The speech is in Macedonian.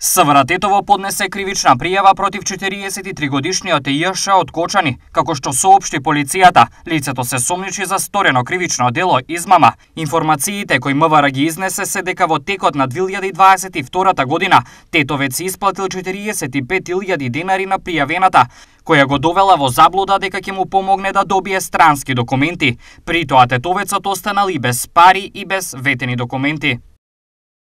СВР Тетово поднесе кривична пријава против 43-годишниот Ј.Ш. од Кочани, како што соопшти полицијата. Лицето се сомничи за сторено кривично дело измама. Информациите кои МВР ги изнесе се дека во текот на 2022 година Тетовец исплатил 45.000 денари на пријавената, која го довела во заблуда дека ќе му помогне да добие странски документи. При тоа Тетовецот останал и без пари и без ветени документи.